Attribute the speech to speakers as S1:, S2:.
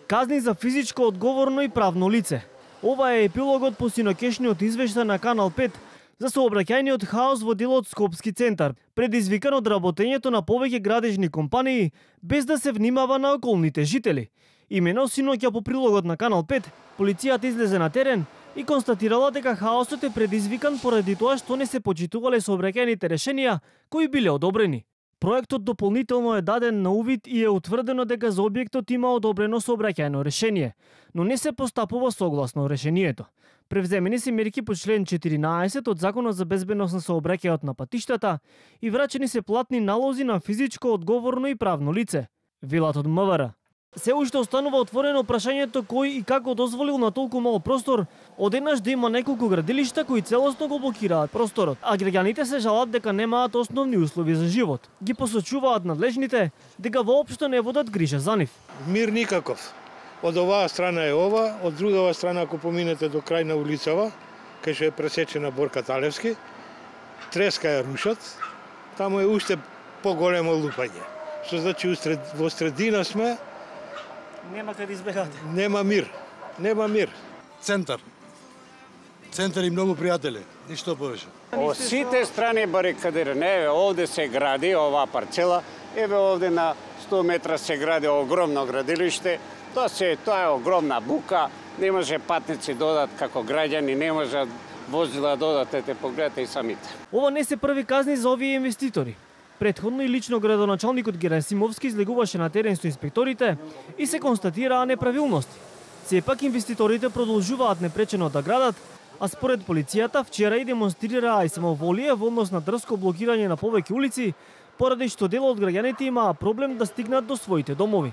S1: Казни за физичко одговорно и правно лице. Ова е епилогот по синокешниот извештај на Канал 5 за сообраќајниот хаос во делот Скопски центар, предизвикан од работењето на повеќе градежни компании без да се внимава на околните жители. Имено синоќа по прилогот на Канал 5, полицијата излезе на терен и констатирала дека хаосот е предизвикан поради тоа што не се почитувале сообраќајните решенија кои биле одобрени. Проектот дополнително е даден на увид и е утврдено дека за објектот има одобрено сообраќајно решение, но не се постапува согласно решението. Превземени се мерки по член 14 од Законот за безбедност на сообраќајот на патиштата и врачени се платни налози на физичко одговорно и правно лице, велат од МВР. Се уште останува отворено прашањето кој и како дозволил на толку мал простор одеднаш да има неколку градилишта кои целосно го блокираат просторот, а граѓаните се жалат дека немаат основни услови за живот. Ги посочуваат надлежните дека воопшто не водат грижа за нив.
S2: Мир никаков. Од оваа страна е ова, од другава страна ако поминете до крај на улицава, кај што е пресечена Борка Талевски, треска ја рушат, таму е уште поголемо лупање. Што значи во средина сме.
S1: Нема каде избегате.
S2: Нема мир. Нема мир.
S3: Центар. Центар и многу пријатели. Ништо повеќе.
S4: Од сите страни барикадирани. Еве овде се гради оваа парцела. Еве овде на 100 метра се гради огромно градилиште. Тоа е огромна бука. Не може патници додат како граѓани, не може возила додат, ете погледате и самите.
S1: Ова не се први казни за овие инвеститори. Предходно и лично градоначалникот Герасимовски излегуваше на терен со инспекторите и се констатираа неправилности. Сепак инвеститорите продолжуваат непречено да градат, а според полицијата вчера и демонстрираа и самоволие во однос на дрско блокирање на повеќе улици, поради што дел од граѓаните имаа проблем да стигнат до своите домови.